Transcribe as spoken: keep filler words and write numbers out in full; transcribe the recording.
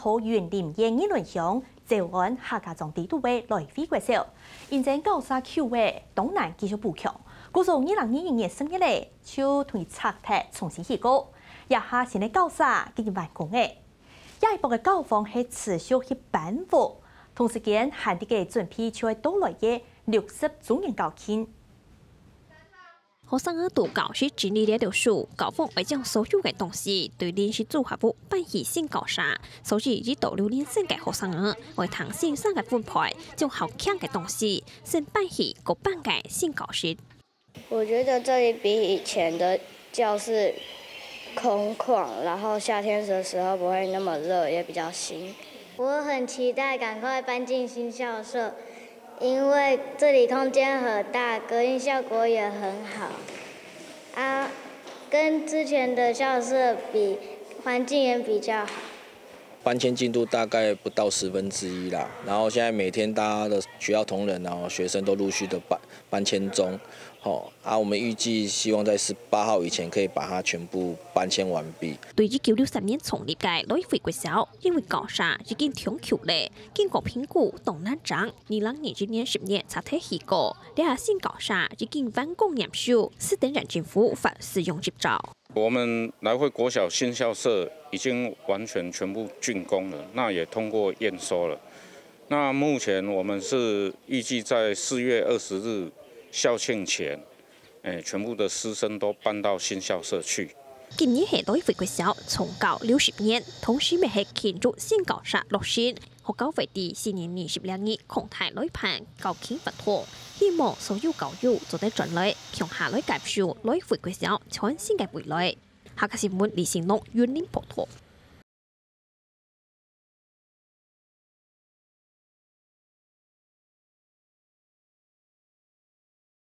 桃園林園二崙鄉詔安客家庄底肚个來惠國小，因爭校舍舊个，當難繼續補強，故所二零二一年十月咧，就同佢拆忒重新起過。這下新个校舍已經完工咧。這一駁个校方係持續去搬屋，同時間還在該準備就會到來个六十週年校慶。 學生仔在教室整理了了事，校方愛將所有个東西對臨時組合屋搬去新校舍，所以已到六年生个學生仔愛聽先生个分配，將較輕个東西先搬去較搬个新教室。我覺得這裡比以前的教室空曠，然後夏天的時候不會那麼熱，也比較新。我很期待趕快搬進新校舍， 因為這裡空間很大，隔音效果也很好，啊，跟之前的校舍比，環境也比較好。搬遷進度大概不到十分之一啦，然後現在每天大家的學校同仁啊、學生都陸續的搬搬遷中，吼，啊，我們預計希望在十八號以前可以把它全部搬遷完畢。對一九六三年創立个來惠國小，因為校舍已經長久咧，經過評估當難整， 二零二一年十月拆忒起過，這下新校舍已經完工驗收，斯等待政府發使用執照。我們來惠國小新校舍已經完全全部竣工了，那也通過驗收了。那目前我們是預計在四月二十日校慶前，誒，全部的師生都搬到新校舍去。今年係來惠國小重校六十年，同時也係慶祝新校舍落成。 學校會在四月二十六日擴大來辦校慶活動，希望所有校友做得轉來，共下來感受來惠國小全新个未來。客家新聞李新龍雲林報導。